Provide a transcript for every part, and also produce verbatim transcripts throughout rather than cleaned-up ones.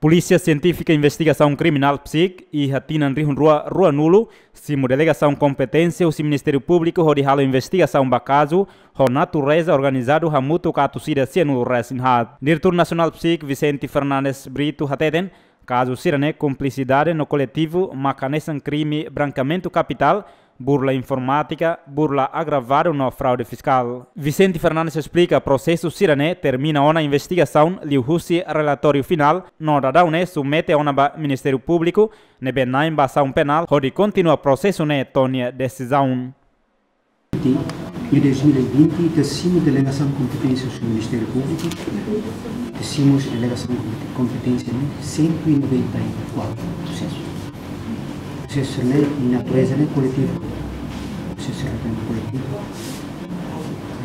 Polísia Sientífika Investigasaun Kriminál, PSIK, iha tinan rihun rua ruanulu, simu delegasaun kompeténsia husi Ministériu Públiku hodi halo investigasaun ba kazu ho natureza organizadu hamutuk atus ida sianulu resin haat. Diretór Nasionál PSIK, Vicente Fernandes Brito, hateten, kazu sira-ne'e kumplisidade no koletivu maka hanesan krime brankamentu kapitál, burla informátika, burla agravadu no fraude fiskál. Vicente Fernandes esplika prosesu sira-ne'e termina ona investigasaun liuhusi relatóriu finál, no daudaun ne'e submete ona ba Ministériu Públiku, ne'ebé na'in ba asaun penál, hodi kontinua prosesu ne'e to'o nia desizaun. Iha dois mil e vinte, ita simu delegasaun kompeténsia husi Ministériu Públiku, ita simu husi delegasaun kompeténsia ne'e cento e noventa e quatro prosesu. Prosesu ne'e, natureza ne'e koletivu. Prosesu ne'e koletivu.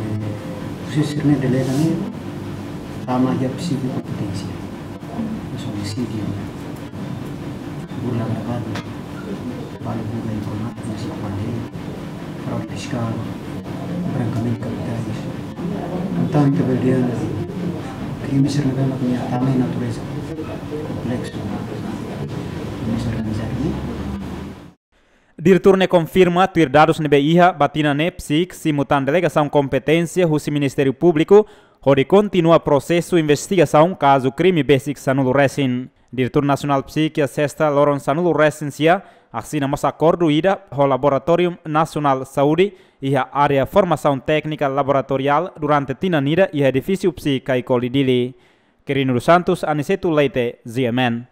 Eh, prosesu ne'e delega ne'e tama iha PSIK kompeténsia. Hanesan omisídiu, burla agravadu, burla informátika, hanesan fraude fiskál, brankamentu kapitais. Portantu, bele dehan, krime sira-ne'e mak nia tama iha natureza kompleksu, krime organizadu ne'e. Diretór ne'e konfirma tuir dadus ne'ebé iha, ba tinan ne'e PSIK simu tan delegasaun kompeténsia husi Ministériu Públiku hodi kontinua prosesu investigasaun kazu krime besik sanulu resin. Diretór Nasionál PSIK iha sesta loron sanulu resin sia asina mós akordu ida ho Laboratóriu Nasionál Saúde iha área formasaun téknika laboratoriál durante tinan ida iha edifísiu PSIK Caicoli, Dili. Quirino dos Santos, Aniceto Leite, G M N.